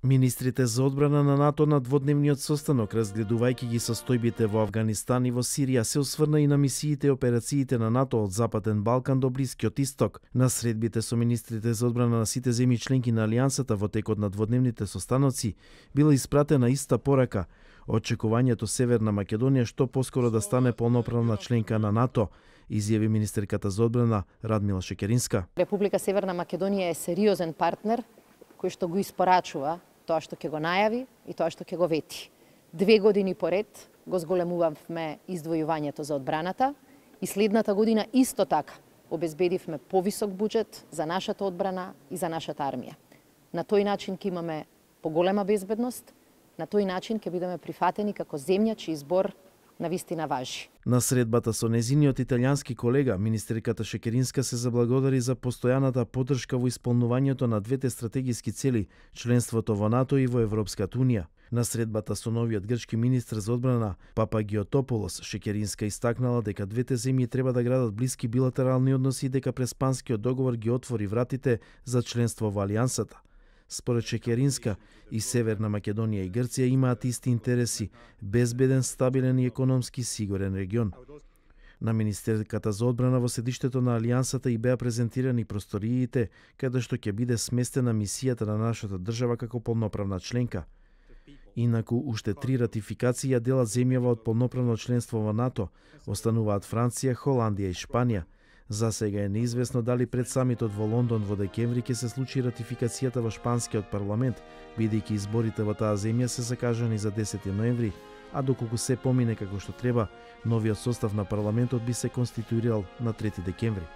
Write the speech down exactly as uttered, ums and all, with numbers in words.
Министрите за одбрана на НАТО на дводневниот состанок, разгледувајќи ги состојбите во Авганистан и во Сирија, се осврна и на мисиите и операциите на НАТО од Западен Балкан до Блискиот Исток. На средбите со министрите за одбрана на сите земји членки на Алијансата во текот на дводневните состаноци била испратена иста порака: очекувањето Северна Македонија што поскоро да стане полноправна членка на НАТО, изјави министерката за одбрана Радмила Шекеринска. Република Северна Македонија е сериозен партнер кој што го испорачува тоа што ќе го најави и тоа што ќе го вети. Две години поред го зголемувавме издвојувањето за одбраната и следната година исто така обезбедивме повисок буџет за нашата одбрана и за нашата армија. На тој начин ќе имаме поголема безбедност, на тој начин ќе бидеме прифатени како земја чиј избор на вистина важи. На средбата со незиниот италијански колега, министерката Шекеринска се заблагодари за постојаната поддршка во исполнувањето на двете стратегиски цели, членството во НАТО и во Европската Унија. На средбата со новиот грчки министр за одбрана Папагиотополос, Шекеринска истакнала дека двете земји треба да градат блиски билатерални односи и дека Преспанскиот договор ги отвори вратите за членство во Алијансата. Според Шекеринска, и Северна Македонија и Грција имаат исти интереси: безбеден, стабилен и економски сигурен регион. На министерката за одбрана во седиштето на Алијансата и беа презентирани просториите каде што ќе биде сместена мисијата на нашата држава како полноправна членка. Инаку, уште три ратификации ја делат земјава од полноправно членство во НАТО, остануваат Франција, Холандија и Шпанија. За сега е неизвестно дали пред самитот во Лондон во декември ќе се случи ратификацијата во шпанскиот парламент, бидејќи изборите во таа земја се закажани за десети ноември, а доколку се помине како што треба, новиот состав на парламентот би се конституирал на трети декември.